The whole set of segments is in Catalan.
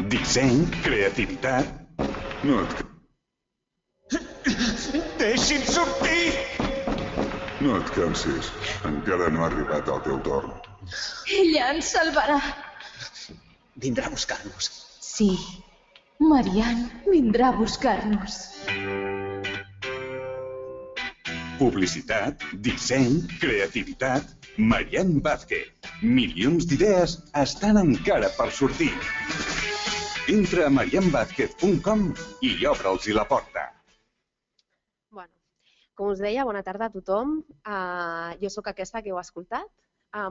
disseny, creativitat... No et... Deixi'm sortir! No et cansis. Encara no ha arribat el teu torn. Ella ens salvarà. Vindrà a buscar-nos. Sí, Marian vindrà a buscar-nos. Publicitat, disseny, creativitat... Marian Vázquez. Milions d'idees estan encara per sortir. Entra a marianvázquez.com i obre'ls la porta. Bueno, com us deia, bona tarda a tothom. Jo sóc aquesta que heu escoltat.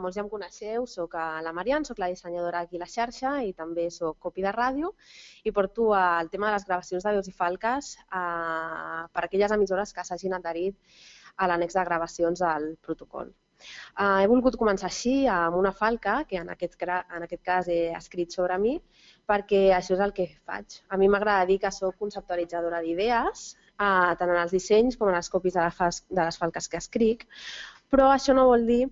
Molts ja em coneixeu, sóc la Marian, sóc la dissenyadora aquí a la xarxa i també sóc copy de ràdio i porto el tema de les gravacions de veus i falques per aquelles emissores que s'hagin adherit a l'annex de gravacions del protocol. He volgut començar així amb una falca, que en aquest cas he escrit sobre mi, perquè això és el que faig. A mi m'agrada dir que soc conceptualitzadora d'idees, tant en els dissenys com en els copies de les falques que escric, però això no vol dir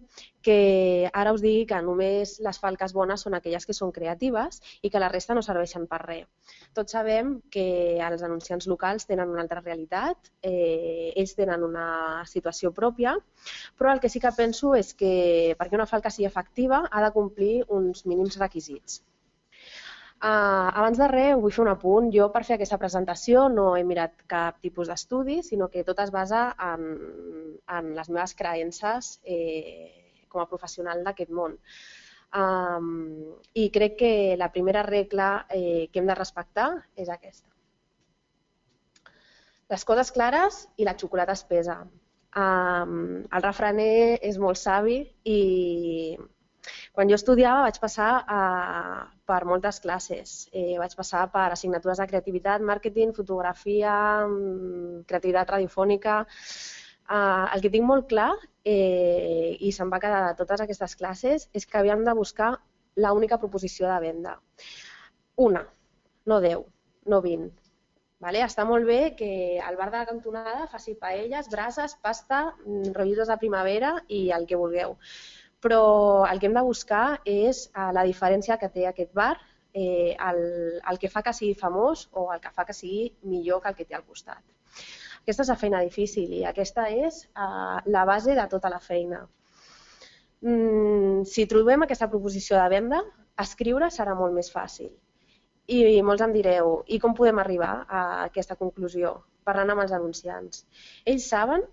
que ara us digui que només les falques bones són aquelles que són creatives i que la resta no serveixen per res. Tots sabem que els anunciants locals tenen una altra realitat, ells tenen una situació pròpia, però el que sí que penso és que perquè una falca sigui efectiva ha de complir uns mínims requisits. Abans de res, vull fer un apunt. Jo, per fer aquesta presentació, no he mirat cap tipus d'estudi, sinó que tot es basa en les meves creences com a professional d'aquest món. I crec que la primera regla que hem de respectar és aquesta. Les coses clares i la xocolata espesa. El refraner és molt savi i quan jo estudiava vaig passar per moltes classes. Vaig passar per assignatures de creativitat, màrqueting, fotografia, creativitat radiofònica. El que tinc molt clar, i se'm va quedar de totes aquestes classes, és que havíem de buscar l'única proposició de venda. Una, no 10, no 20. Està molt bé que al bar de la cantonada faci paelles, brases, pasta, rotllitos de primavera i el que vulgueu. Però el que hem de buscar és la diferència que té aquest bar, el que fa que sigui famós o el que fa que sigui millor que el que té al costat. Aquesta és la feina difícil i aquesta és la base de tota la feina. Si trobem aquesta proposició de venda, escriure serà molt més fàcil. I molts em direu, i com podem arribar a aquesta conclusió? Parlant amb els anunciants. Ells saben,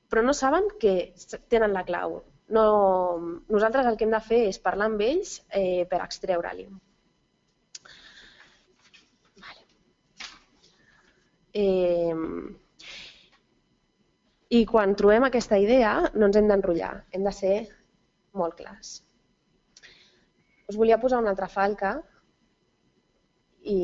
però no saben que tenen la clau. Nosaltres el que hem de fer és parlar amb ells per extreure-li. I quan trobem aquesta idea no ens hem d'enrotllar, hem de ser molt clars. Us volia posar una altra falca i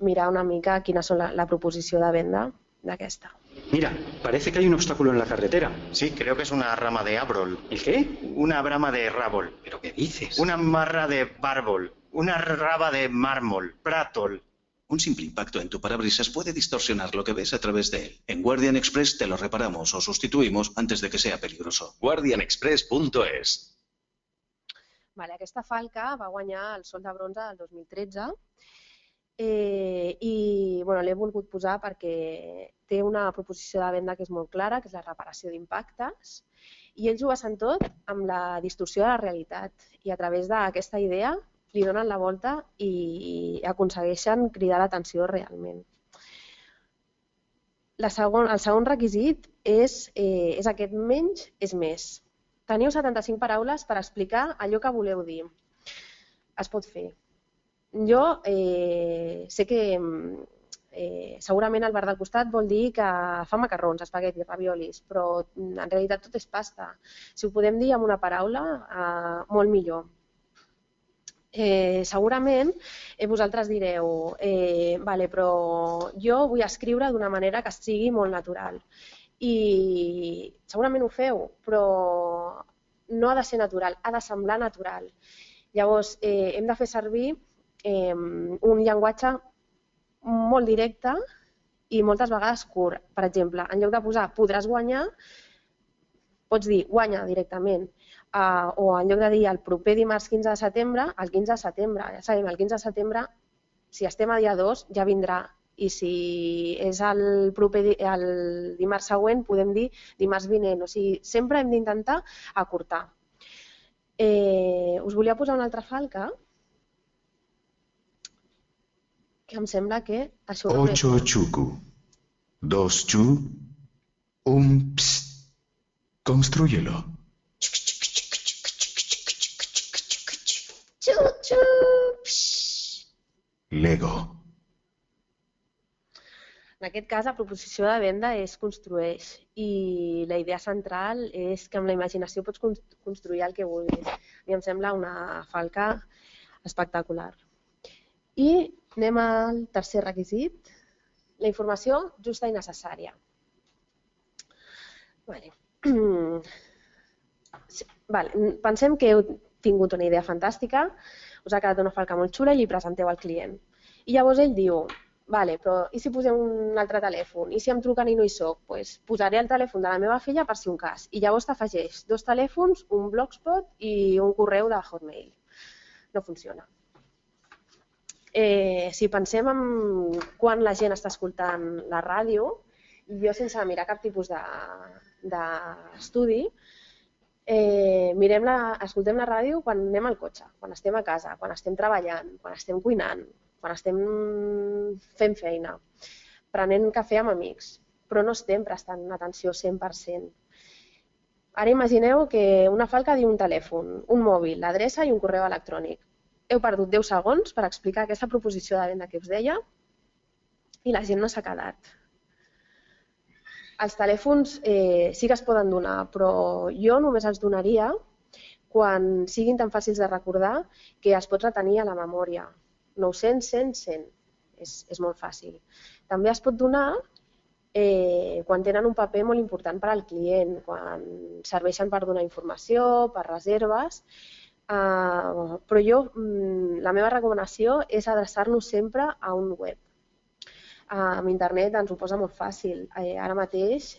mirar una mica quina és la proposició de venda d'aquesta. Mira, parece que hay un obstáculo en la carretera. Sí, creo que es una rama de árbol. ¿El qué? Una brama de rábol. ¿Pero qué dices? Una marra de bárbol. Una raba de mármol. Prátol. Un simple impacto en tu parabrisas puede distorsionar lo que ves a través de él. En Guardian Express te lo reparamos o sustituimos antes de que sea peligroso. guardianexpress.es. Aquesta falca va guanyar el Sol de Bronze del 2013 i l'he volgut posar perquè té una proposició de venda que és molt clara, que és la reparació d'impactes, i ells ho basen tot amb la distorsió de la realitat i a través d'aquesta idea li donen la volta i aconsegueixen cridar l'atenció realment. El segon requisit és aquest menys és més. Teniu 75 paraules per explicar allò que voleu dir. Es pot fer. Jo sé que segurament el bar del costat vol dir que fa macarrons, espaguetis, raviolis, però en realitat tot és pasta. Si ho podem dir amb una paraula, molt millor. Segurament vosaltres direu, però jo vull escriure d'una manera que sigui molt natural. I segurament ho feu, però no ha de ser natural, ha de semblar natural. Llavors, hem de fer servir un llenguatge molt directe i moltes vegades curt. Per exemple, en lloc de posar podràs guanyar, pots dir guanya directament. o en lloc de dir el proper dimarts 15 de setembre, el 15 de setembre. Ja sabem, el 15 de setembre, si estem a dia 2, ja vindrà. I si és el dimarts següent, podem dir dimarts vinent. O sigui, sempre hem d'intentar acurtar. Us volia posar una altra falca, que em sembla que això... 8 chuku, 2 chu, 1 ps. Constrúyelo. Lego. En aquest cas, la proposició de venda és construeix i la idea central és que amb la imaginació pots construir el que vulguis. A mi em sembla una falca espectacular. I anem al tercer requisit, la informació justa i necessària. Pensem que heu tingut una idea fantàstica, us ha quedat una falca molt xula i li presenteu al client. I llavors ell diu, vale, però i si posem un altre telèfon? I si em truquen i no hi soc? Doncs posaré el telèfon de la meva filla per si un cas. I llavors t'afegeix 2 telèfons, un blogspot i un correu de Hotmail. No funciona. Si pensem en quan la gent està escoltant la ràdio, jo sense mirar cap tipus d'estudi, escoltem la ràdio quan anem al cotxe, quan estem a casa, quan estem treballant, quan estem cuinant, quan estem fent feina, prenent cafè amb amics, però no estem prestant atenció 100%. Ara imagineu que una falca diu un telèfon, un mòbil, l'adreça i un correu electrònic. Heu perdut 10 segons per explicar aquesta proposició de venda que us deia i la gent no s'ha quedat. Els telèfons sí que es poden donar, però jo només els donaria quan siguin tan fàcils de recordar que es pot retenir a la memòria. 900, 100, 100. És molt fàcil. També es pot donar quan tenen un paper molt important per al client, quan serveixen per donar informació, per reserves, però la meva recomanació és adreçar-nos sempre a un web. Amb internet ens ho posa molt fàcil. Ara mateix,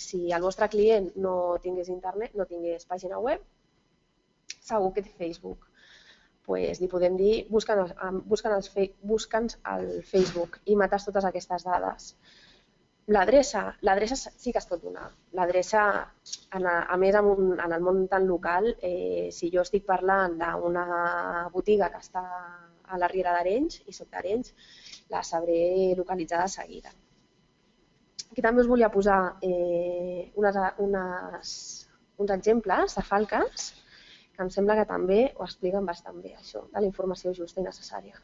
si el vostre client no tingués internet, no tingués pàgina web, segur que té Facebook. Doncs li podem dir, busca'ns al Facebook i mates totes aquestes dades. L'adreça sí que es pot donar. L'adreça, a més, en el món tan local, si jo estic parlant d'una botiga que està a la Riera d'Arenys i soc d'Arenys, la sabré localitzar de seguida. Aquí també us volia posar uns exemples de falques que em sembla que també ho expliquen bastant bé, això, de la informació justa i necessària.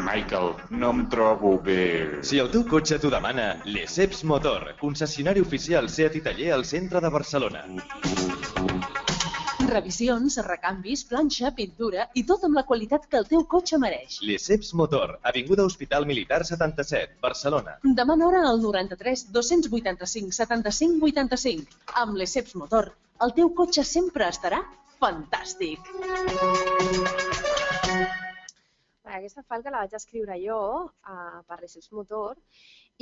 Michael, no em trobo bé. Si el teu cotxe t'ho demana, Lesseps Motor, concessionari oficial Seat i taller al centre de Barcelona. Revisions, recanvis, planxa, pintura i tot amb la qualitat que el teu cotxe mereix. Lesseps Motor, avinguda Hospital Militar 77, Barcelona. Demana hora al 93 285 75 85. Amb Lesseps Motor, el teu cotxe sempre estarà fantàstic. Aquesta falca la vaig escriure jo per Lesseps Motor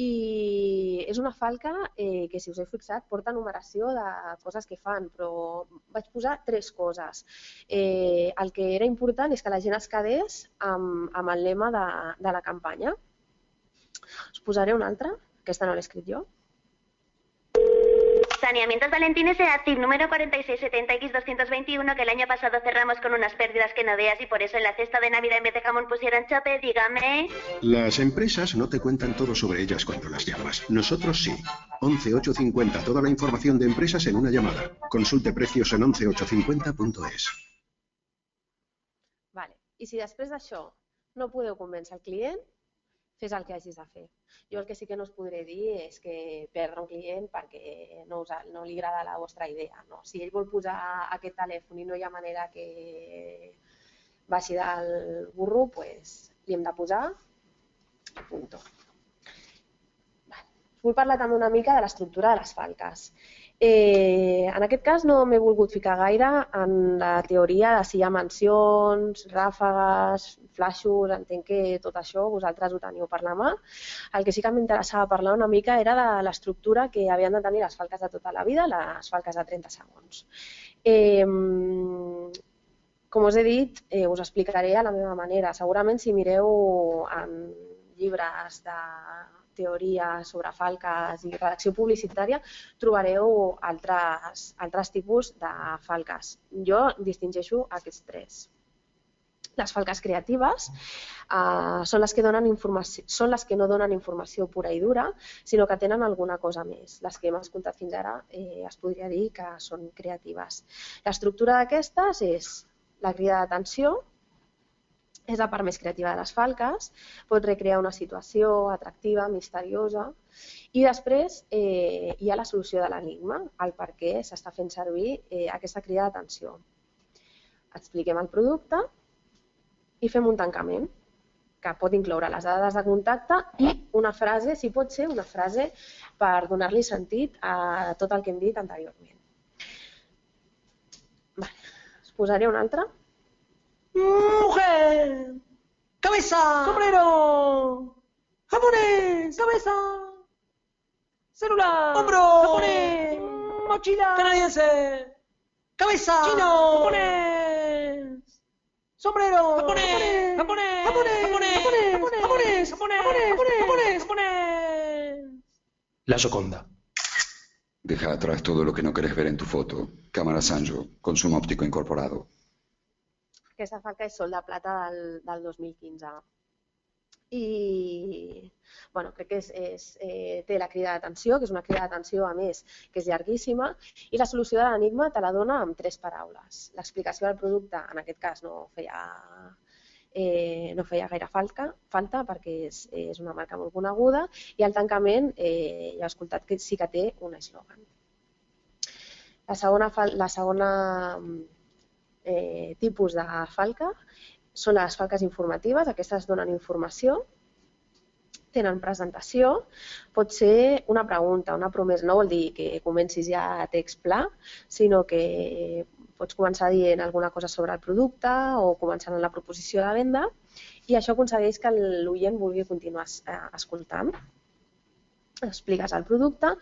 i és una falca que, si us heu fixat, porta numeració de coses que fan, però vaig posar 3 coses. El que era important és que la gent es quedés amb el lema de la campanya. Us posaré una altra, aquesta no l'he escrit jo. Saneamientos Valentines SEAT TIP número 4670X221, que el año pasado cerramos con unas pérdidas que no veas y por eso en la cesta de Navidad en vez de jamón pusieron chope, dígame. Las empresas no te cuentan todo sobre ellas cuando las llamas. Nosotros sí. 11850, toda la información de empresas en una llamada. Consulte precios en 11850.es. Vale. I si després d'això no podeu convèncer el client, fes el que hagis de fer. Jo el que sí que no us podré dir és que perdre un client perquè no li agrada la vostra idea. Si ell vol posar aquest telèfon i no hi ha manera que baixi del burro, doncs li hem de posar i punt. vull parlar també una mica de l'estructura de les falques. En aquest cas no m'he volgut ficar gaire en la teoria de si hi ha mansions, ràfegues, flaixos, entenc que tot això vosaltres ho teniu per la mà. El que sí que m'interessava parlar una mica era de l'estructura que havien de tenir les falques de tota la vida, les falques de 30 segons. Com us he dit, us explicaré a la meva manera. Segurament si mireu en llibres de teoria sobre falques i redacció publicitària, trobareu altres tipus de falques. Jo distingeixo aquests tres. Les falques creatives són les que no donen informació pura i dura, sinó que tenen alguna cosa més. Les que hem escoltat fins ara es podria dir que són creatives. L'estructura d'aquestes és la crida d'atenció, és la part més creativa de les falques, pot recrear una situació atractiva, misteriosa, i després hi ha la solució de l'enigma, el per què s'està fent servir aquesta crida d'atenció. Expliquem el producte i fem un tancament, que pot incloure les dades de contacte i una frase, si pot ser una frase per donar-li sentit a tot el que hem dit anteriorment. Us posaré una altra. ¡Mujer! ¡Cabeza! ¡Sombrero! ¡Japonés! ¡Cabeza! ¡Celular! ¡Hombro! ¡Japonés! ¡Mochila! ¡Canadiense! ¡Cabeza! ¡Chino! ¡Japonés! ¡Sombrero! ¡Japonés! ¡Japonés! ¡Japonés! ¡Japonés! ¡Japonés! ¡Japonés! La Gioconda. Deja atrás todo lo que no querés ver en tu foto. Cámara Sanyo, con zoom óptico incorporado. Aquesta falca és Sol de Plata del 2015. I crec que té la crida d'atenció, que és una crida d'atenció a més que és llarguíssima, i la solució de l'enigma te la dona amb 3 paraules. L'explicació del producte, en aquest cas, no feia gaire falta perquè és una marca molt coneguda, i el tancament ja he escoltat que sí que té un eslògan. La segona tipus de falca són les falques informatives. Aquestes donen informació, tenen presentació, pot ser una pregunta, una promesa. No vol dir que comencis ja a text pla, sinó que pots començar dient alguna cosa sobre el producte o començant en la proposició de venda, i això aconsegueix que l'oient vulgui continuar escoltant. Expliques el producte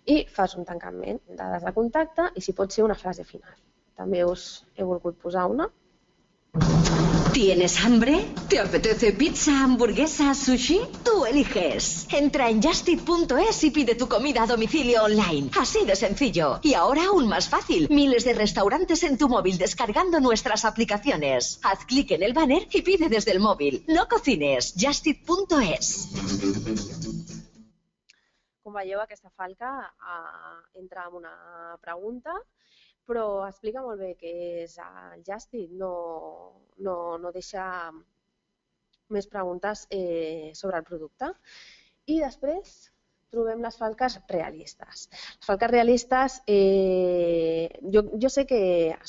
i fas un tancament, dades de contacte i si pot ser una frase final. També us he volgut posar una. ¿Tienes hambre? ¿Te apetece pizza, hamburguesa, sushi? Tú eliges. Entra en Justit.es y pide tu comida a domicilio online. Así de sencillo. Y ahora aún más fácil. Miles de restaurantes en tu móvil descargando nuestras aplicaciones. Haz clic en el banner y pide desde el móvil. No cocines. Justit.es. Com veieu, aquesta falca entra amb una pregunta, però explica molt bé què és el Justit, no deixa més preguntes sobre el producte. I després trobem les falques realistes. Les falques realistes jo sé que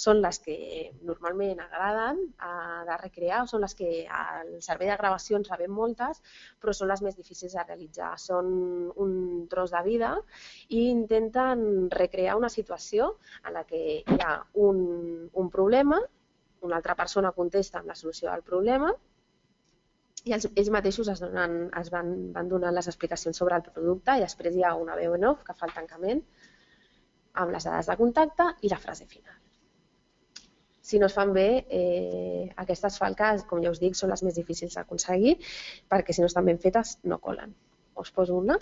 són les que normalment agraden de recrear, són les que al servei de gravació en sabem moltes, però són les més difícils de realitzar. Són un tros de vida i intenten recrear una situació en la que hi ha un problema, una altra persona contesta amb la solució del problema, i ells mateixos van donant les explicacions sobre el producte i després hi ha una veu en off que fa el tancament amb les dades de contacte i la frase final. Si no es fan bé, aquestes falques, com ja us dic, són les més difícils d'aconseguir perquè si no estan ben fetes no colen. Us poso una.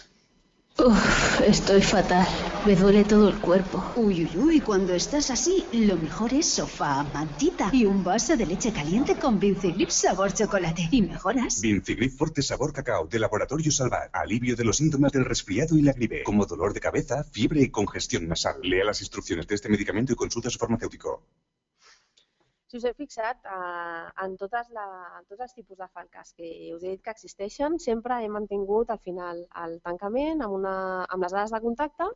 Estoy fatal. Me duele todo el cuerpo. Uy, cuando estás así, lo mejor es sofá, mantita y un vaso de leche caliente con Vincigrip sabor chocolate. ¿Y mejoras? Vincigrip Forte sabor cacao de Laboratorio Salvat. Alivio de los síntomas del resfriado y la gripe, como dolor de cabeza, fiebre y congestión nasal. Lea las instrucciones de este medicamento y consulta a su farmacéutico. Si us heu fixat, en tots els tipus de falques que us he dit que existeixen, sempre he mantingut al final el tancament amb les dades de contacte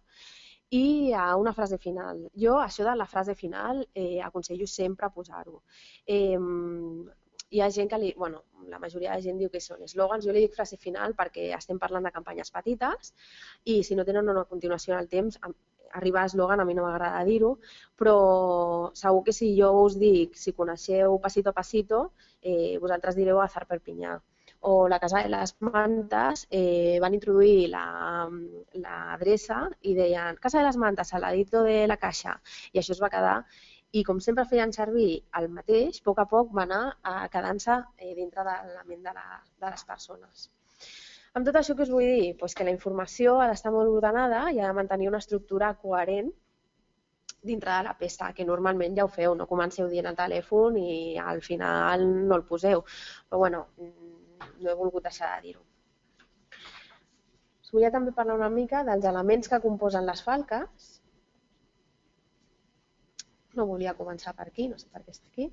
i una frase final. Jo, això de la frase final, aconsello sempre posar-ho. Hi ha gent que la majoria de gent diu que són eslògans, jo li dic frase final perquè estem parlant de campanyes petites i si no tenen una continuació en el temps, arribar a eslògan a mi no m'agrada dir-ho, però segur que si jo us dic, si coneixeu Pasito a Pasito, vosaltres direu Azar Perpinyà. O la Casa de les Mantes van introduir l'adreça i deien Casa de les Mantes, al ladito de la caixa, i això es va quedar. I com sempre feien servir el mateix, a poc va anar quedant-se dintre de la ment de les persones. Amb tot això, què us vull dir? Que la informació ha d'estar molt ordenada i ha de mantenir una estructura coherent dintre de la peça, que normalment ja ho feu, no comenceu dient el telèfon i al final no el poseu. Però bueno, no he volgut deixar de dir-ho. Us volia també parlar una mica dels elements que composen les falques. No volia començar per aquí, no sé per què està aquí.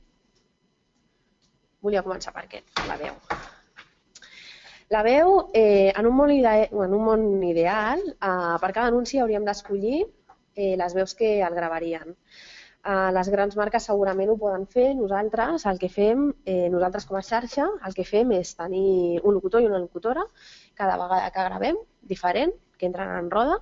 Volia començar per aquest, la veu. La veu, en un món ideal, per cada anunci hauríem d'escollir les veus que el gravarien. Les grans marques segurament ho poden fer, nosaltres el que fem, nosaltres com a xarxa, el que fem és tenir un locutor i una locutora cada vegada que gravem, diferent, que entren en roda,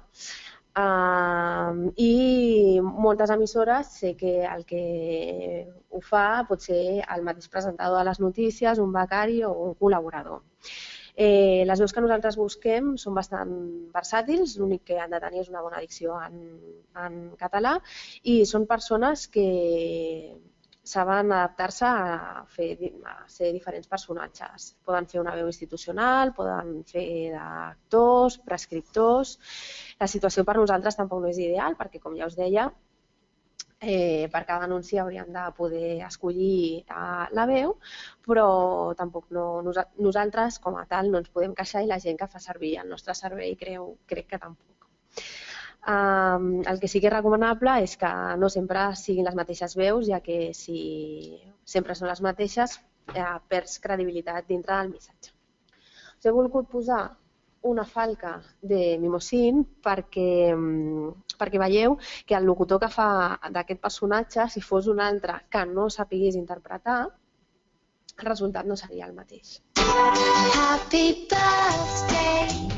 i moltes emissores sé que el que ho fa pot ser el mateix presentador de les notícies, un becari o un col·laborador. Les veus que nosaltres busquem són bastant versàtils, l'únic que han de tenir és una bona dicció en català i són persones que saben adaptar-se a ser diferents personatges. Poden fer una veu institucional, poden fer d'actors, prescriptors. La situació per nosaltres tampoc no és ideal perquè, com ja us deia, per cada anunci hauríem de poder escollir la veu, però tampoc nosaltres com a tal no ens podem queixar i la gent que fa servir el nostre servei crec que tampoc. El que sí que és recomanable és que no sempre siguin les mateixes veus, ja que si sempre són les mateixes perds credibilitat dintre del missatge. Us he volgut posar una falca de Mimosín perquè veieu que el locutor que fa d'aquest personatge, si fos un altre que no sapigués interpretar, el resultat no seria el mateix. Happy birthday.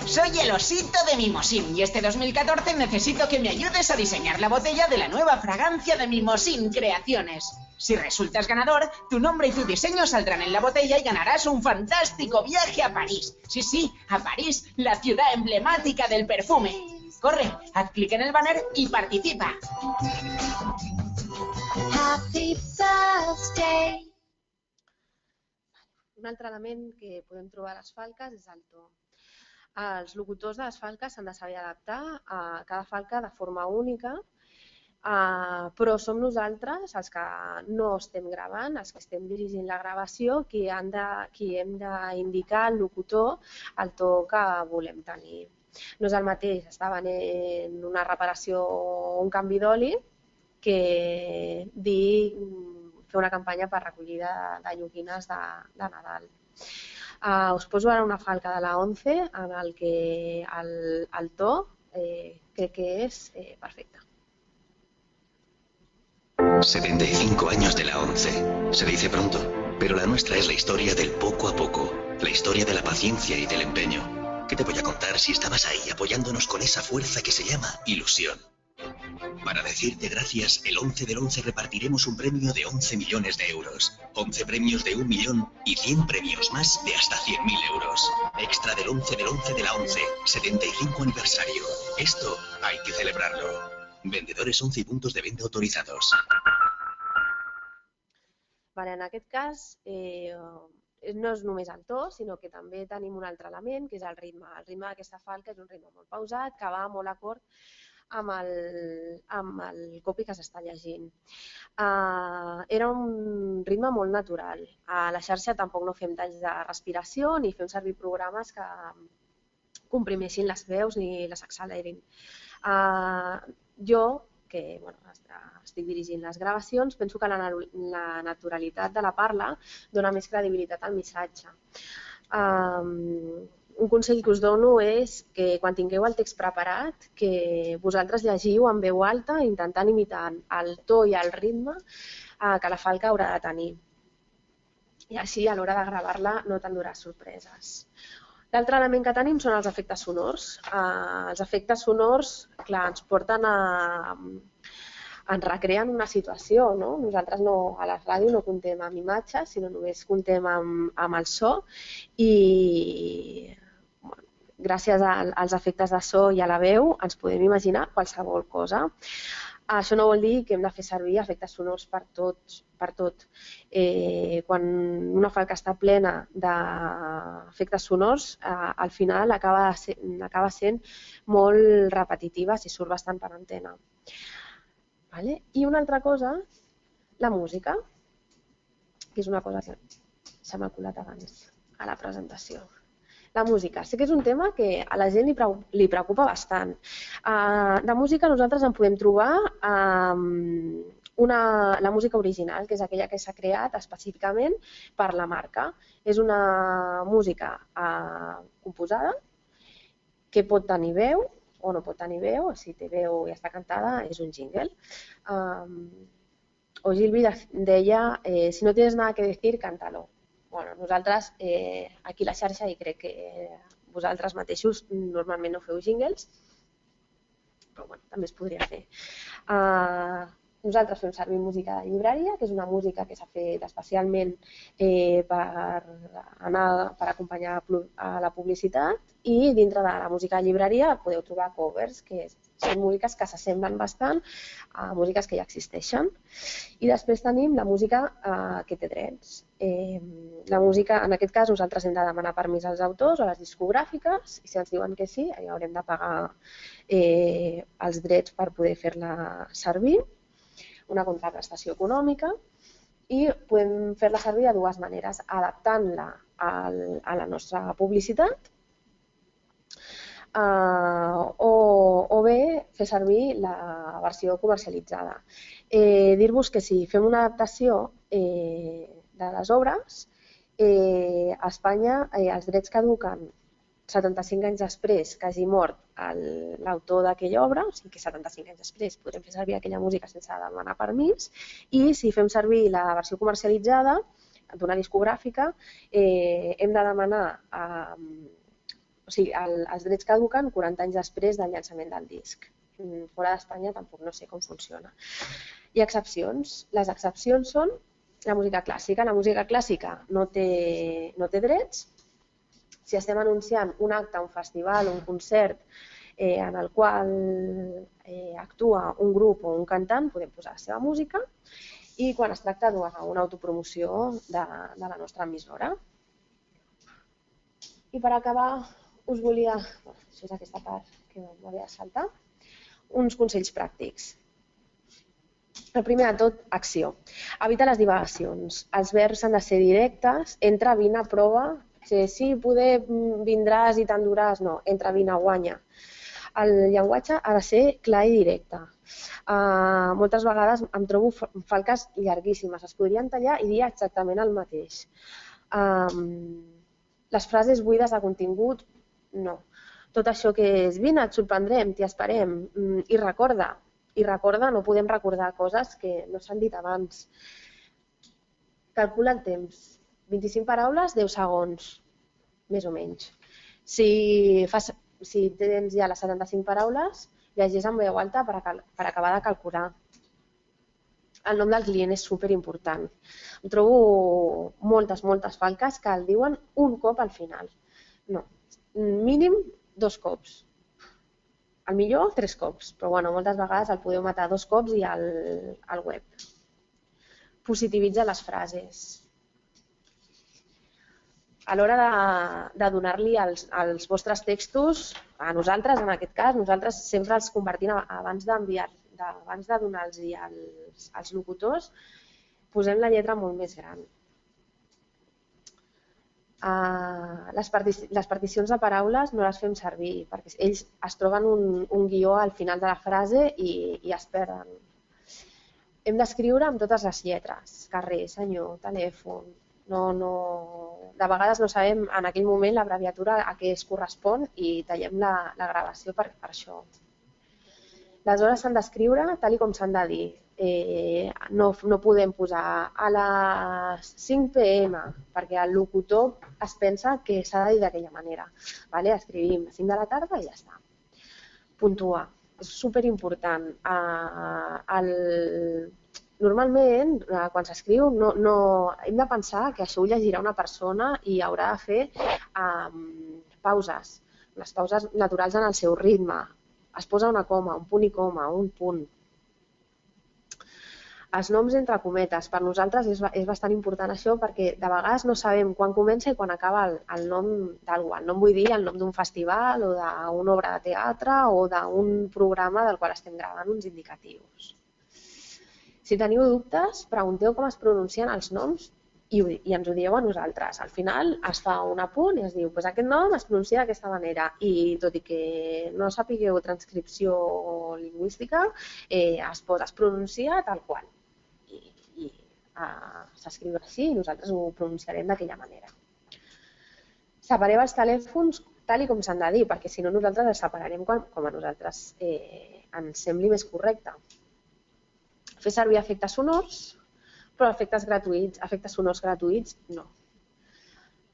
Soy el osito de Mimosín y este 2014 necesito que me ayudes a diseñar la botella de la nueva fragancia de Mimosín Creaciones. Si resultas ganador, tu nombre y tu diseño saldrán en la botella y ganarás un fantástico viaje a París. Sí, a París, la ciudad emblemática del perfume. Corre, haz clic en el banner y participa. Happy birthday. Un altre element que podem trobar a les falques és el to. Els locutors de les falques s'han de saber adaptar a cada falca de forma única, però som nosaltres, els que no estem gravant, els que estem dirigint la gravació, qui hem d'indicar al locutor el to que volem tenir. No és el mateix estar venent una reparació o un canvi d'oli que dir fer una campanya per recollida de lloquines de Nadal. Us poso ara una falca de la 11 en el que el to crec que és perfecte. 75 años de la 11. Se dice pronto, pero la nuestra es la historia del poco a poco, la historia de la paciencia y del empeño. ¿Qué te voy a contar si estabas ahí apoyándonos con esa fuerza que se llama ilusión? Para decirte gracias, el 11 del 11 repartiremos un premio de 11 millones de euros, 11 premios de 1 millón y 100 premios más de hasta 100.000 euros. Extra del 11 del 11 de la 11, 75 aniversario. Esto hay que celebrarlo. Vendedores 11 y puntos de venta autorizados. En aquest cas, no és només el to, sinó que també tenim un altre element, que és el ritme. El ritme d'aquesta falca és un ritme molt pausat, que va molt acord amb el copy que s'està llegint. Era un ritme molt natural. A la xarxa tampoc no fem talls de respiració ni fem servir programes que comprimeixin les veus ni les accelerin. Jo, que estic dirigint les gravacions, penso que la naturalitat de la parla dona més credibilitat al missatge. Un consell que us dono és que quan tingueu el text preparat, que vosaltres llegiu en veu alta intentant imitar el to i el ritme que la falca haurà de tenir. i així a l'hora de gravar-la no t'enduràs sorpreses. L'altre element que tenim són els efectes sonors. Els efectes sonors, clar, ens porten ens recreen una situació, no? Nosaltres a la ràdio no comptem amb imatges, sinó només comptem amb el so i gràcies als efectes de so i a la veu ens podem imaginar qualsevol cosa. Això no vol dir que hem de fer servir efectes sonors per tot. Quan una falca està plena d'efectes sonors, al final acaba sent molt repetitiva si surt bastant per antena. I una altra cosa, la música, que és una cosa que se m'ha colat abans a la presentació. La música. Sé que és un tema que a la gent li preocupa bastant. De música nosaltres en podem trobar la música original, que és aquella que s'ha creat específicament per la marca. És una música composada que pot tenir veu o no pot tenir veu. Si té veu i està cantada és un jingle. Ogilvy deia, si no tienes nada que decir, cántalo. Nosaltres aquí a la xarxa, i crec que vosaltres mateixos normalment no feu jingles, però també es podria fer. Nosaltres fem servir música de llibreria, que és una música que s'ha fet especialment per acompanyar a la publicitat, i dintre de la música de llibreria podeu trobar covers, que són músiques que s'assemblen bastant a músiques que ja existeixen. I després tenim la música que té drets. La música, en aquest cas, nosaltres hem de demanar permís als autors o a les discogràfiques, i si ens diuen que sí, haurem de pagar els drets per poder fer-la servir, una contraprestació econòmica, i podem fer-la servir de dues maneres, adaptant-la a la nostra publicitat o bé fer servir la versió comercialitzada. Dir-vos que si fem una adaptació de les obres, a Espanya els drets caduquen 75 anys després que hagi mort l'autor d'aquella obra, o sigui que 75 anys després podrem fer servir aquella música sense demanar permís, i si fem servir la versió comercialitzada d'una discogràfica, hem de demanar, o sigui, els drets caduquen 40 anys després del llançament del disc. Fora d'Espanya tampoc no sé com funciona. Hi ha excepcions. Les excepcions són la música clàssica. La música clàssica no té drets. Si estem anunciant un acte, un festival o un concert en el qual actua un grup o un cantant, podem posar la seva música, i quan es tracta d'una autopromoció de la nostra emissora. I per acabar, us volia, això és aquesta part que m'havia de saltar, uns consells pràctics. El primer de tot, acció. Evita les divagacions. Els verbs han de ser directes, entra, vine, prova. Sí, poder vindràs i t'enduràs, no, entra, vine, guanya. El llenguatge ha de ser clar i directe. Moltes vegades em trobo falques llarguíssimes, es podrien tallar i dir exactament el mateix. Les frases buides de contingut, no. Tot això que és, vine, et sorprendrem, t'hi esperem, i recorda, no podem recordar coses que no s'han dit abans. Calcula el temps. 25 paraules, 10 segons, més o menys. Si tens ja les 75 paraules, llegeix en veu alta per acabar de calcular. El nom del client és superimportant. Em trobo moltes falques que el diuen un cop al final. No, mínim 2 cops. Al millor 3 cops, però moltes vegades el podeu matar 2 cops i al web. Positivitzar les frases. A l'hora de donar-li als vostres textos, a nosaltres, en aquest cas, nosaltres sempre els convertim abans de donar-los als locutors, posem la lletra molt més gran. Les particions de paraules no les fem servir, perquè ells es troben un guió al final de la frase i es perden. Hem d'escriure amb totes les lletres, carrer, senyor, telèfon. De vegades no sabem en aquell moment l'abreviatura a què es correspon i tallem la gravació per això. Les hores s'han d'escriure tal com s'han de dir. no podem posar a les 5 p.m. perquè el locutor es pensa que s'ha de dir d'aquella manera. Escrivim a 5 de la tarda i ja està. Puntuar. És superimportant. Normalment, quan s'escriu, hem de pensar que això ho llegirà una persona i haurà de fer pauses. Les pauses naturals en el seu ritme. Es posa una coma, un punt i coma, un punt. Els noms entre cometes, per nosaltres és bastant important això perquè de vegades no sabem quan comença i quan acaba el nom d'algú. El nom vull dir el nom d'un festival o d'una obra de teatre o d'un programa del qual estem gravant uns indicatius. Si teniu dubtes, pregunteu com es pronuncien els noms i ens ho dieu a nosaltres. Al final es fa un apunt i es diu aquest nom es pronuncia d'aquesta manera i tot i que no sapigueu transcripció lingüística, es pronuncia tal qual. S'escriu així i nosaltres ho pronunciarem d'aquella manera. Separeu els telèfons tal com s'han de dir, perquè si no nosaltres els separarem com a nosaltres ens sembli més correcte. Fer servir efectes sonors, però efectes sonors gratuïts no.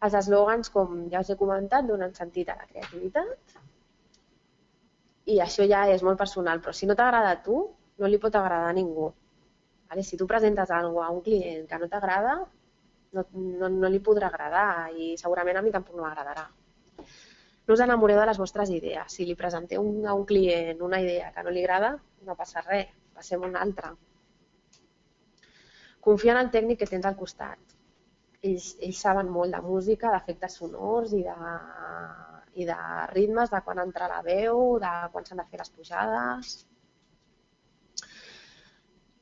Els eslògans, com ja us he comentat, donen sentit a la creativitat i això ja és molt personal, però si no t'agrada a tu, no li pot agradar a ningú. Si tu presentes alguna cosa a un client que no t'agrada, no li podrà agradar i segurament a mi tampoc no m'agradarà. No us enamoreu de les vostres idees. Si li presenteu a un client una idea que no li agrada, no passa res, passem una altra. Confia en el tècnic que tens al costat. Ells saben molt de música, d'efectes sonors i de ritmes, de quan entra la veu, de quan s'han de fer les pujades.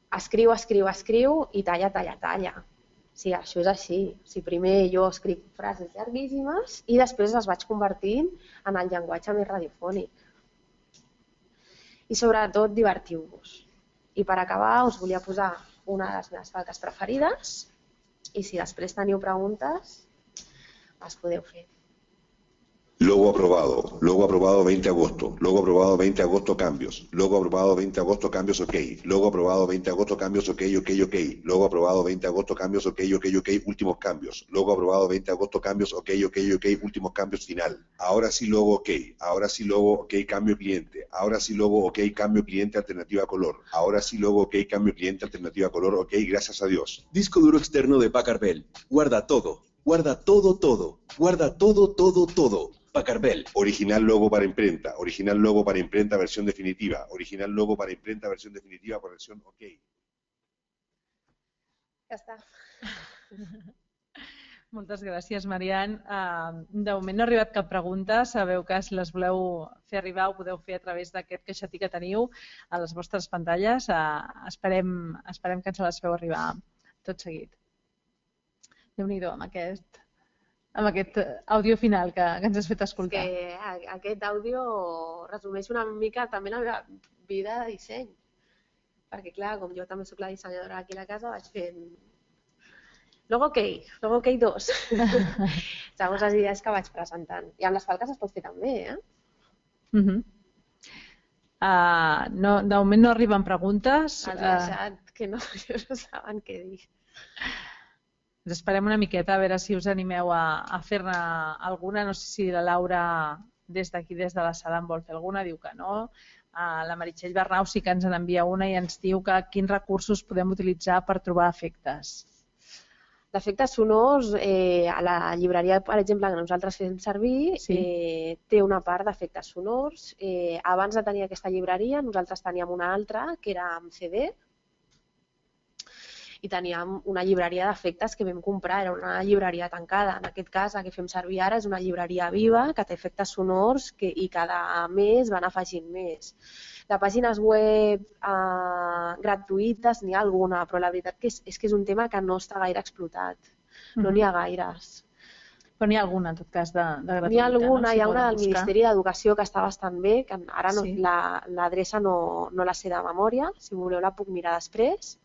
Escriu i talla. Sí, això és així. Primer jo escric frases llarguíssimes i després les vaig convertint en el llenguatge més radiofònic. I sobretot divertiu-vos. I per acabar us volia posar una de les meves falques preferides i si després teniu preguntes les podeu fer. Logo aprobado 20 de agosto. Logo aprobado 20 de agosto, cambios. Logo aprobado 20 de agosto, cambios, ok. Logo aprobado 20 de agosto, cambios, ok. Logo aprobado 20 de agosto, cambios, ok, últimos cambios. Logo aprobado 20 de agosto, cambios, ok, últimos cambios, final. Ahora sí logo, ok. Ahora sí logo, ok, cambio cliente. Ahora sí logo, ok, cambio cliente, alternativa color. Ahora sí logo, ok, cambio cliente, alternativa color, ok, gracias a Dios. Disco duro externo de Packard Bell. Guarda todo. Guarda todo. Guarda todo. Packard Bell. Original logo para imprenta versión definitiva. Original logo para imprenta versión definitiva por versión OK. Ja està. Moltes gràcies, Marian. De moment no ha arribat cap pregunta. Sabeu que si les voleu fer arribar ho podeu fer a través d'aquest caixetí que teniu a les vostres pantalles. Esperem que ens les feu arribar tot seguit. Déu-n'hi-do amb aquest àudio final que ens has fet escoltar. Aquest àudio resumeix una mica també la meva vida de disseny. Perquè, clar, com jo també soc la dissenyadora aquí a la casa, vaig fent Logo OK 2. Segons les idees que vaig presentant. I amb les falques es pot fer també, De moment no arriben preguntes. Els he deixat que no saben què dir. Ens esperem una miqueta a veure si us animeu a fer-ne alguna. No sé si la Laura des d'aquí, des de la sala, en vol fer alguna, diu que no. La Meritxell Bernau sí que ens n'envia una i ens diu que quins recursos podem utilitzar per trobar efectes. D'efectes sonors, a la llibreria, per exemple, que nosaltres fem servir, té una part d'efectes sonors. Abans de tenir aquesta llibreria, nosaltres teníem una altra, que era amb CD, i teníem una llibreria d'efectes que vam comprar, era una llibreria tancada. En aquest cas, la que fem servir ara és una llibreria viva que té efectes sonors i cada mes van afegint més. De pàgines web gratuïtes n'hi ha alguna, però la veritat és que és un tema que no està gaire explotat. No n'hi ha gaires. Però n'hi ha alguna, en tot cas, de gratuïta. N'hi ha alguna, hi ha una del Ministeri d'Educació que està bastant bé, que ara l'adreça no la sé de memòria, si voleu la puc mirar després.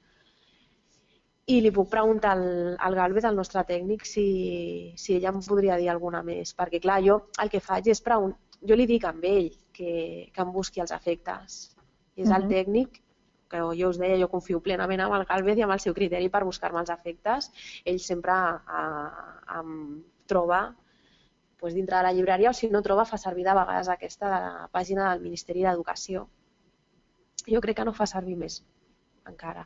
I li puc preguntar al Galvez, al nostre tècnic, si ella em podria dir alguna més. Perquè, clar, jo el que faig és preguntar. Jo li dic a ell que em busqui els efectes. És el tècnic que jo us deia, jo confio plenament en el Gálvez i amb el seu criteri per buscar-me els efectes. Ell sempre em troba dintre de la llibreria, o si no troba, fa servir de vegades aquesta de la pàgina del Ministeri d'Educació. Jo crec que no fa servir més, encara.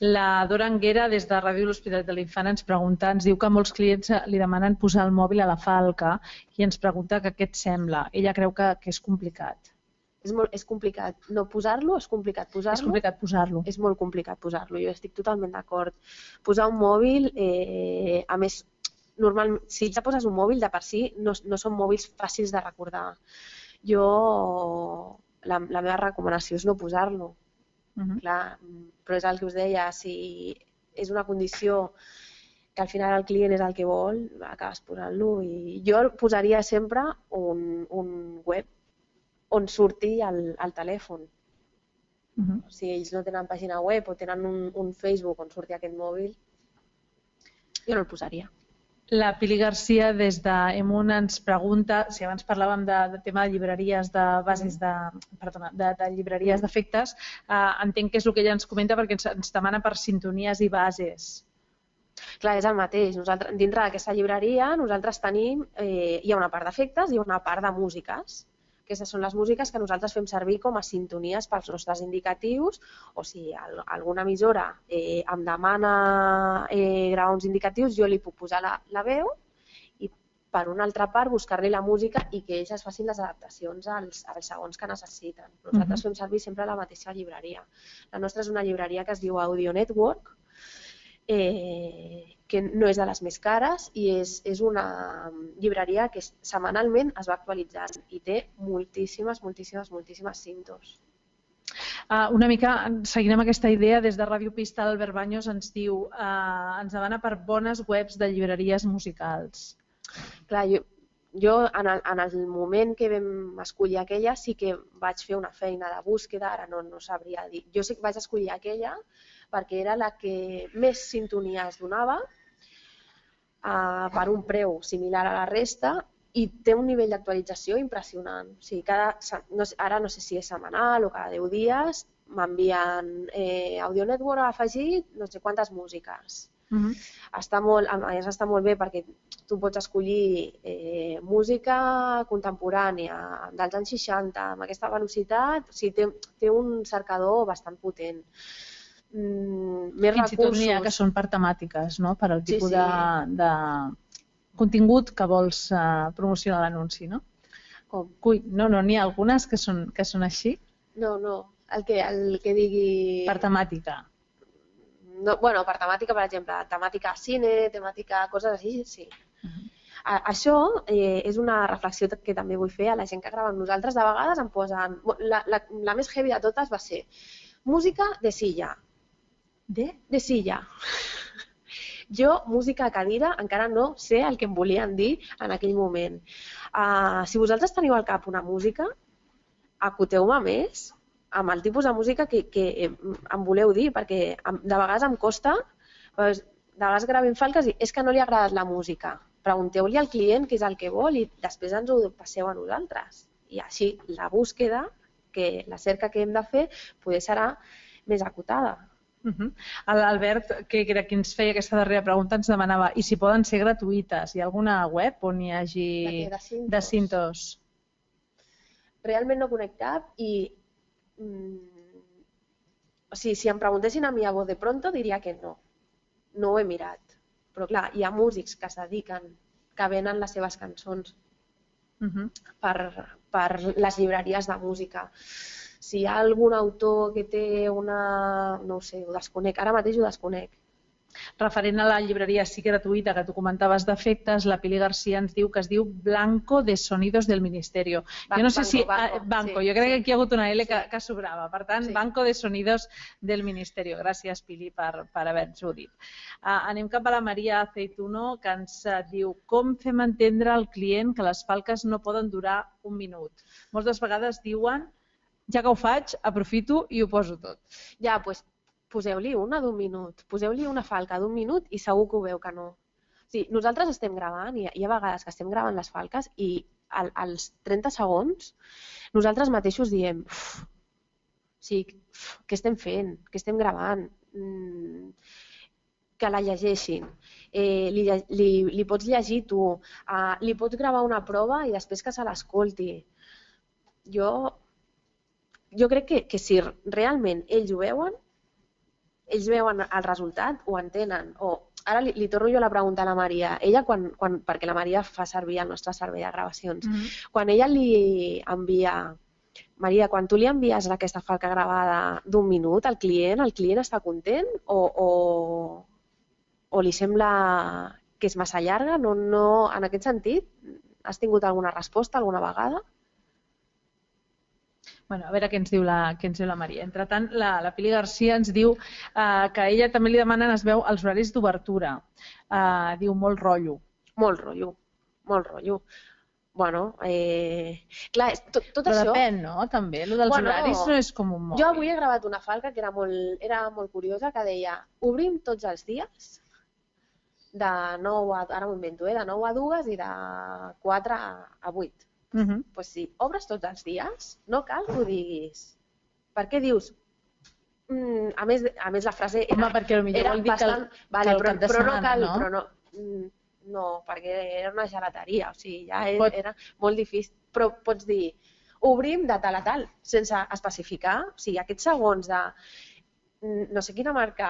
La Dora Anguera, des de Ràdio L'Hospitalet de l'Infant, ens pregunta, ens diu que molts clients li demanen posar el mòbil a la falca i ens pregunta que què et sembla. Ella creu que és complicat. És complicat no posar-lo, és complicat posar-lo. És complicat posar-lo. És molt complicat posar-lo, jo estic totalment d'acord. Posar un mòbil, a més, normalment, si ja poses un mòbil, de per si no són mòbils fàcils de recordar. La meva recomanació és no posar-lo. Clar, però és el que us deia, si és una condició que al final el client és el que vol, acabes posant-lo. I jo posaria sempre un web on surti el telèfon. Si ells no tenen pàgina web o tenen un Facebook on surti aquest mòbil, jo no el posaria. La Pili Garcia des d'Emun ens pregunta, si abans parlàvem del tema de llibreries de bases de llibreries d'efectes, entenc que és el que ella ens comenta perquè ens demana per sintonies i bases. Clar, és el mateix. Dintre d'aquesta llibreria nosaltres tenim, hi ha una part d'efectes i una part de músiques. Aquestes són les músiques que nosaltres fem servir com a sintonies pels nostres indicatius, o si alguna emissora em demana gravar uns indicatius, jo li puc posar la veu i per una altra part buscar-li la música i que ells es facin les adaptacions als segons que necessiten. Nosaltres fem servir sempre la mateixa llibreria. La nostra és una llibreria que es diu Audio Network, que no és de les més cares i és una llibreria que setmanalment es va actualitzant i té moltíssimes cintos. Una mica, seguint amb aquesta idea, des de Ràdio Pista, Albert Baños ens diu, ens demana per bones webs de llibreries musicals. Clar, jo en el moment que vam escollir aquella sí que vaig fer una feina de búsqueda, ara no sabria dir. Jo sí que vaig escollir aquella perquè era la que més sintonies donava per un preu similar a la resta i té un nivell d'actualització impressionant. O sigui, ara no sé si és setmanal o cada 10 dies m'envien Audio Network ha afegit no sé quantes músiques. Està molt bé perquè tu pots escollir música contemporània dels anys 60 amb aquesta velocitat, o sigui, té un cercador bastant potent. Fins i tot n'hi ha que són per temàtiques, per al tipus de contingut que vols promocionar l'anunci, no? No, n'hi ha algunes que són així? No, el que digui... Per temàtica. Bueno, per temàtica, per exemple, temàtica cine, temàtica coses així, sí. Això és una reflexió que també vull fer a la gent que grava amb nosaltres. De vegades em posen... La més heavy de totes va ser música de silla. De silla. Jo, música a cadira, encara no sé el que em volien dir en aquell moment. Si vosaltres teniu al cap una música, acoteu-me més amb el tipus de música que em voleu dir, perquè de vegades em costa, de vegades gravem falques i és que no li ha agradat la música. Pregunteu-li al client què és el que vol i després ens ho passeu a nosaltres. I així la búsqueda, la cerca que hem de fer, poder serà més acotada. L'Albert, que era qui ens feia aquesta darrera pregunta, ens demanava i si poden ser gratuïtes. Hi ha alguna web on hi hagi de cintos? Realment no conec cap i si em preguntessin a mi a voz de pronto diria que no. No ho he mirat. Però clar, hi ha músics que es dediquen, que venen les seves cançons per les llibreries de música. Si hi ha algun autor que té una... no ho sé, ho desconec. Ara mateix ho desconec. Referent a la llibreria sí gratuïta que tu comentaves d'efectes, la Pili Garcia ens diu que es diu Blanco de Sonidos del Ministerio. Jo no sé si... Banco, jo crec que aquí hi ha hagut una L que sobrava. Per tant, Banco de Sonidos del Ministerio. Gràcies, Pili, per haver-nos-ho dit. Anem cap a la Maria Aceituno, que ens diu com fem entendre al client que les falques no poden durar un minut. Moltes vegades diuen ja que ho faig, aprofito i ho poso tot. Ja, doncs poseu-li una d'un minut, poseu-li una falca d'un minut i segur que ho veu que no. Nosaltres estem gravant, i hi ha vegades que estem gravant les falques i als 30 segons nosaltres mateixos diem què estem fent, què estem gravant, que la llegeixin, li pots llegir tu, li pots gravar una prova i després que se l'escolti. Jo crec que si realment ells ho veuen el resultat, ho entenen. Ara li torno jo la pregunta a la Maria. Ella, perquè la Maria fa servir el nostre servei de gravacions, quan ella li envia... Maria, quan tu li envies aquesta falca gravada d'un minut al client està content o li sembla que és massa llarga? En aquest sentit, has tingut alguna resposta alguna vegada? Bueno, a veure què ens diu la Maria. Entretant, la Pili Garcia ens diu que a ella també li demanen, es veu, els horaris d'obertura. Diu molt rotllo. Molt rotllo. Bueno, clar, tot això... Però depèn, no? També, el dels horaris no és com un mòbil. Jo avui he gravat una falca que era molt curiosa, que deia, obrim tots els dies, de 9 a... ara m'ho invento, de 9 a 2 i de 4 a 8. Doncs si obres tots els dies, no cal que ho diguis. Per què dius? A més, la frase era bastant... Però no cal, no, perquè era una gelateria, o sigui, ja era molt difícil. Però pots dir, obrim de tal a tal, sense especificar, o sigui, aquests segons de no sé quina marca,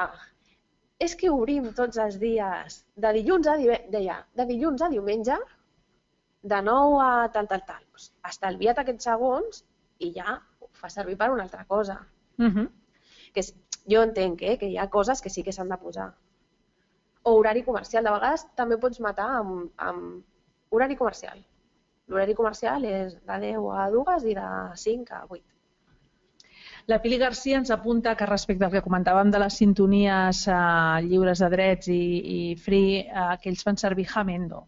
és que obrim tots els dies, de dilluns a diumenge, de 9 a tal. Estalvia't aquests segons i ja ho fa servir per una altra cosa. Jo entenc que hi ha coses que sí que s'han de posar. O horari comercial. De vegades també pots matar amb horari comercial. L'horari comercial és de 10 a 2 i de 5 a 8. La Pili Garcia ens apunta que respecte al que comentàvem de les sintonies lliures de drets i free, que ells fan servir Jamendo.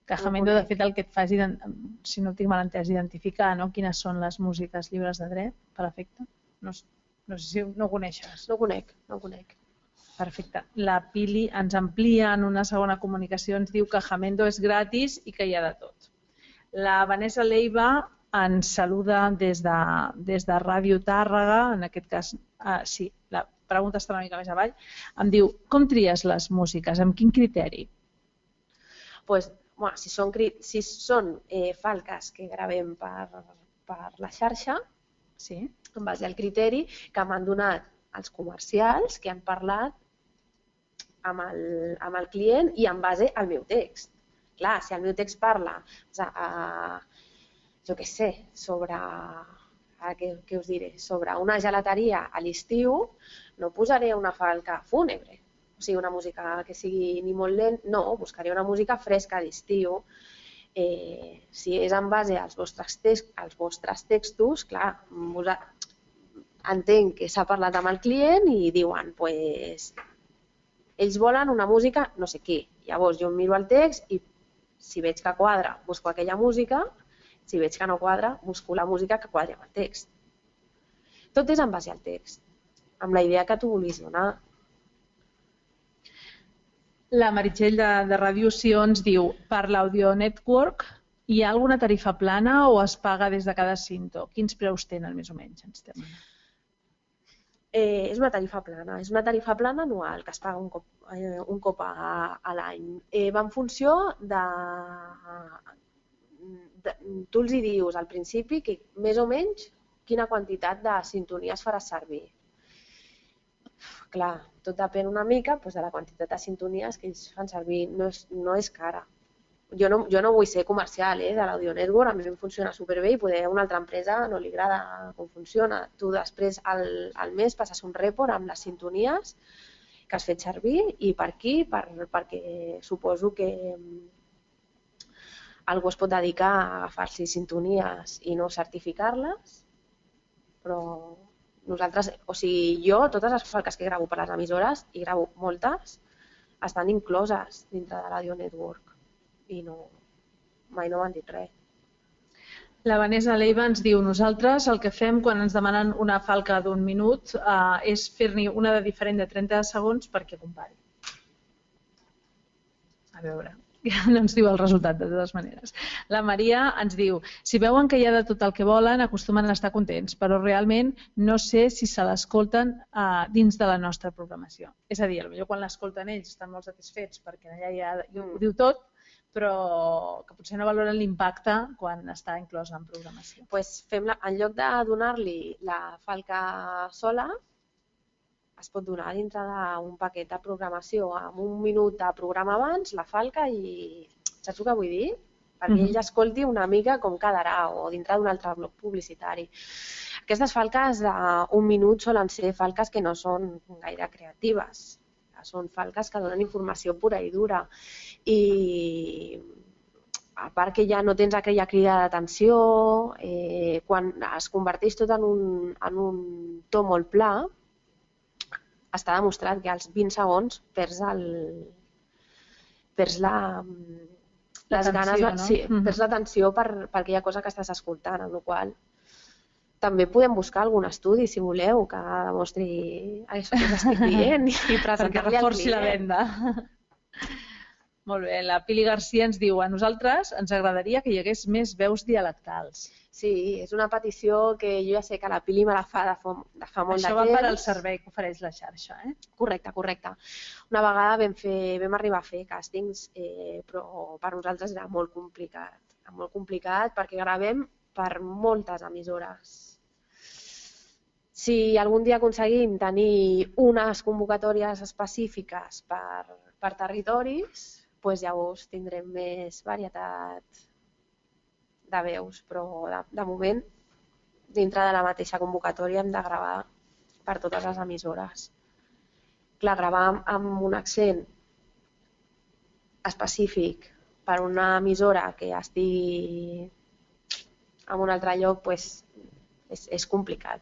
Que Jamendo, de fet, el que et fa és, si no tinc mal entès, identificar quines són les músiques lliures de dret, per efecte. No sé si no ho coneixes. No ho conec. Perfecte. La Pili ens amplia en una segona comunicació, ens diu que Jamendo és gratis i que hi ha de tot. La Vanessa Leiva ens saluda des de Ràdio Tàrrega, en aquest cas, sí, la pregunta està una mica més avall, em diu, com tries les músiques, amb quin criteri? Si són falques que gravem per la xarxa, en base al criteri que m'han donat els comercials que han parlat amb el client i en base al meu text. Clar, si el meu text parla, jo què sé, sobre una gelateria a l'estiu, no posaré una falca fúnebre. O sigui, una música que sigui ni molt lent, no, buscaré una música fresca d'estiu. Si és en base als vostres textos, clar, entenc que s'ha parlat amb el client i diuen, ells volen una música no sé què. Llavors jo miro el text i si veig que quadra, busco aquella música, si veig que no quadra, busco la música que quadri amb el text. Tot és en base al text, amb la idea que tu vulguis donar. La Meritxell de Ràdio Sió ens diu, per l'Audio Network hi ha alguna tarifa plana o es paga des de cada cinto? Quins preus tenen més o menys? És una tarifa plana anual que es paga un cop a l'any. Va en funció de... Tu els hi dius al principi que més o menys quina quantitat de sintonies faràs servir. Clar, tot depèn una mica de la quantitat de sintonies que ells fan servir. No és cara. Jo no vull ser comercial de l'Audio Network, a mi em funciona superbé i poder a una altra empresa no li agrada com funciona. Tu després al mes passes un report amb les sintonies que has fet servir i per aquí, perquè suposo que algú es pot dedicar a agafar-se sintonies i no certificar-les, però nosaltres, o sigui, jo, totes les falques que gravo per les emissores, i gravo moltes, estan incloses dintre de l'Audio Network. I mai no m'han dit res. La Vanessa Leiva ens diu, nosaltres el que fem quan ens demanen una falca d'1 minut és fer-n'hi una de diferent de 30 segons perquè compari. A veure, No ens diu el resultat, de totes maneres. La Maria ens diu, si veuen que hi ha de tot el que volen, acostumen a estar contents, però realment no sé si se l'escolten dins de la nostra programació. És a dir, potser quan l'escolten ells estan molt satisfets perquè allà ho diu tot, però que potser no valoren l'impacte quan està inclòs en programació. En lloc de donar-li la falca sola, es pot donar dintre d'un paquet de programació amb un minut de programa abans, la falca i... Saps el que vull dir? Perquè ell escolti una mica com quedarà o dintre d'un altre bloc publicitari. Aquestes falques d'un minut solen ser falques que no són gaire creatives. Són falques que donen informació pura i dura. I a part que ja no tens aquella crida d'atenció, quan es converteix tot en un to molt pla, està demostrat que als 20 segons perds l'atenció per aquella cosa que estàs escoltant, amb la qual també podem buscar algun estudi, si voleu, que demostri això que estic dient i presentar-li al reforci la client. venda. Molt bé, la Pili Garcia ens diu, a nosaltres ens agradaria que hi hagués més veus dialectals. Sí, és una petició que jo ja sé que la Pili me la fa de fa molt de temps. Això va per al servei que ofereix la xarxa, eh? Correcte, correcte. Una vegada vam arribar a fer càstings, però per nosaltres era molt complicat perquè gravem per moltes emissores. Si algun dia aconseguim tenir unes convocatòries específiques per territoris, doncs llavors tindrem més varietat de veus, però de moment, dintre de la mateixa convocatòria hem de gravar per totes les emissores. Clar, gravar amb un accent específic per una emissora que estigui en un altre lloc és complicat.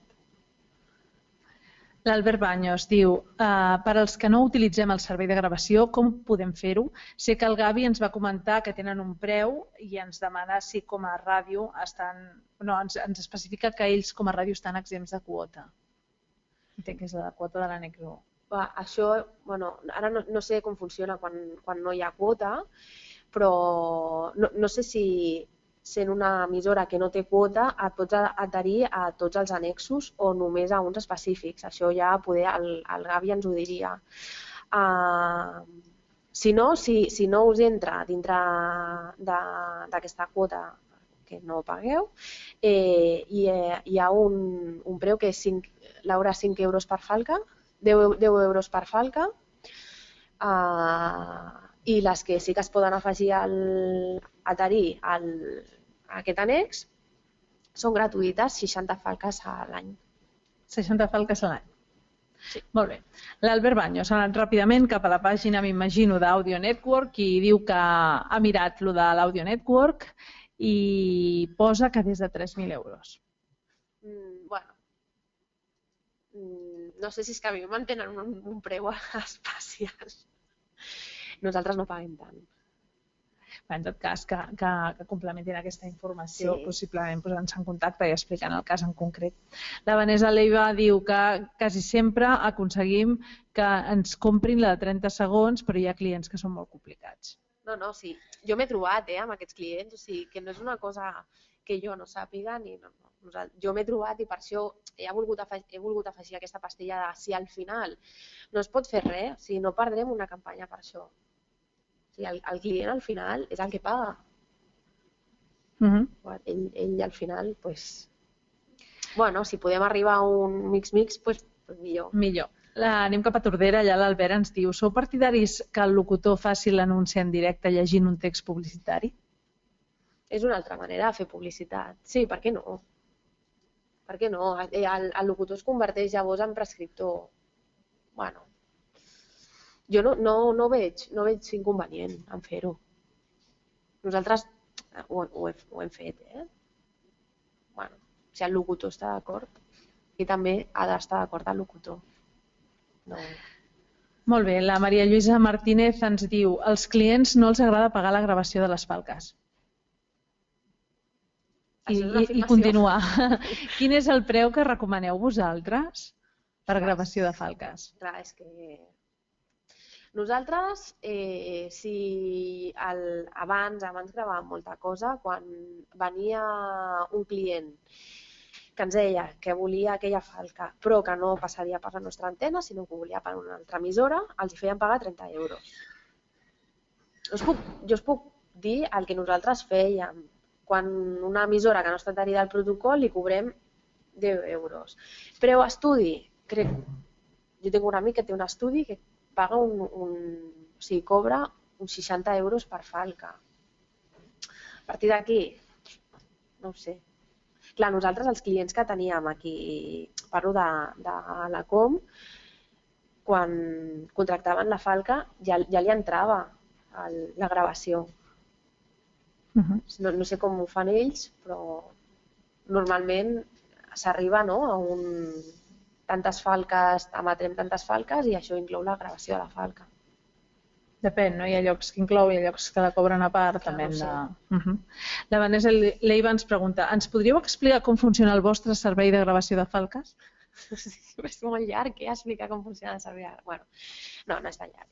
L'Albert Baños diu, per als que no utilitzem el servei de gravació, com podem fer-ho? Sé que el Gavi ens va comentar que tenen un preu i ens demana si com a ràdio ens especifica que ells com a ràdio estan exempts de quota. Entenc que és la quota de l'annex 1. Això, ara no sé com funciona quan no hi ha quota, però no sé si sent una emissora que no té quota et pots adherir a tots els annexos o només a uns específics. Això ja poder el Gavi ens ho diria. Si no us entra dintre d'aquesta quota que no pagueu, hi ha un preu que és l'hora 5 euros per falca, 10 euros per falca, i les que sí que es poden afegir adherir a aquest annex són gratuïtes, 60 falques a l'any. 60 falques a l'any. Sí. Molt bé. L'Albert Baños ha anat ràpidament cap a la pàgina, m'imagino, d'Audio Network i diu que ha mirat lo de l'Audio Network i posa que des de 3.000 euros. No sé si és que a mi mantenen un preu especial. Nosaltres no paguem tant. En tot cas, que complementin aquesta informació, possiblement posant-se en contacte i explicant el cas en concret. La Vanessa Leiva diu que quasi sempre aconseguim que ens comprin la de 30 segons, però hi ha clients que són molt complicats. No, sí. Jo m'he trobat amb aquests clients, o sigui, que no és una cosa que jo no sàpiga, jo m'he trobat i per això he volgut afegir aquesta pastilla de si al final no es pot fer res, o sigui, no perdrem una campanya per això. El client al final és el que paga. Ell al final, si podem arribar a un mix-mix, millor. Millor. Anem cap a Tordera, allà l'Albert ens diu, sou partidaris que el locutor faci l'anunci en directe llegint un text publicitari? És una altra manera de fer publicitat. Sí, per què no? Per què no? El locutor es converteix llavors en prescriptor. Bueno, jo no veig inconvenient en fer-ho. Nosaltres ho hem fet, si el locutor està d'acord, i també ha d'estar d'acord el locutor. Molt bé, la Maria Lluïsa Martínez ens diu, als clients no els agrada pagar la gravació de les falques. I continua. Quin és el preu que recomaneu vosaltres per gravació de falques? Clar, és que Nosaltres, abans gravàvem molta cosa, quan venia un client que ens deia que volia aquella falca, però que no passaria per la nostra antena, sinó que ho volia per una altra emissora, els hi feien pagar 30 euros. Jo us puc dir el que nosaltres fèiem. Quan una emissora que no està adherida al protocol li cobrem 10 euros. Preu estudi, crec, jo tinc un amic que té un estudi que paga cobra uns 60 euros per falca. A partir d'aquí, no ho sé. Clar, nosaltres els clients que teníem aquí, parlo de la Com, quan contractaven la falca ja li entrava la gravació. No sé com ho fan ells, però normalment s'arriba a tantes falques, emetrem tantes falques i això inclou la gravació de la falca. Depèn, no? Hi ha llocs que inclou, hi ha llocs que la cobren a part. La Vanessa Leiva ens pregunta, ens podríeu explicar com funciona el vostre servei de gravació de falques? És molt llarg, explicar com funciona el servei. No és tan llarg.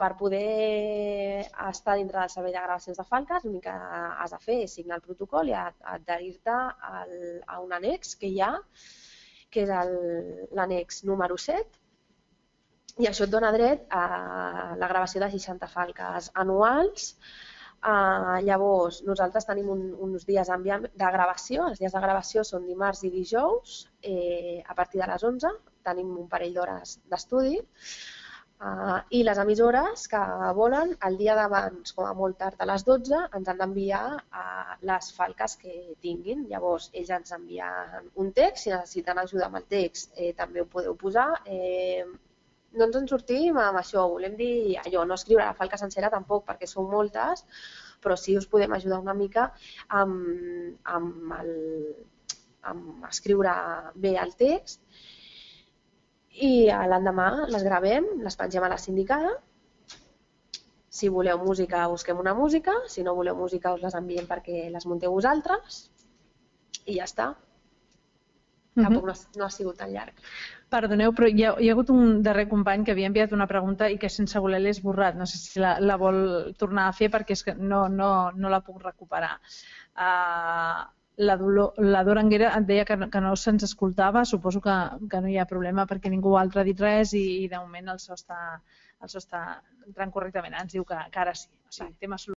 Per poder estar dintre del servei de gravacions de falques, l'únic que has de fer és signar el protocol i adherir-te a un annex que hi ha, que és l'annex número 7, i això et dona dret a la gravació de 60 falques anuals. Llavors, nosaltres tenim uns dies de gravació. Els dies de gravació són dimarts i dijous. A partir de les 11 tenim un parell d'hores d'estudi. I les emissores que volen, el dia d'abans, com a molt tard a les 12, ens han d'enviar les falques que tinguin. Llavors, ells ens envien un text. Si necessiten ajuda amb el text, també ho podeu posar. No ens en sortim amb això, volem dir allò, no escriure la falca sencera tampoc, perquè són moltes, però sí us podem ajudar una mica amb escriure bé el text i l'endemà les gravem, les pengem a la sindicada. Si voleu música, busquem una música, si no voleu música us les enviem perquè les munteu vosaltres i ja està. Tampoc no ha sigut tan llarg. Perdoneu, però hi ha hagut un darrer company que havia enviat una pregunta i que sense voler l'he esborrat. No sé si la vol tornar a fer perquè és que no la puc recuperar. La Dora Anguera et deia que no se'ns escoltava. Suposo que no hi ha problema perquè ningú altre ha dit res i de moment el so està entrant correctament. Ens diu que ara sí. O sigui, tema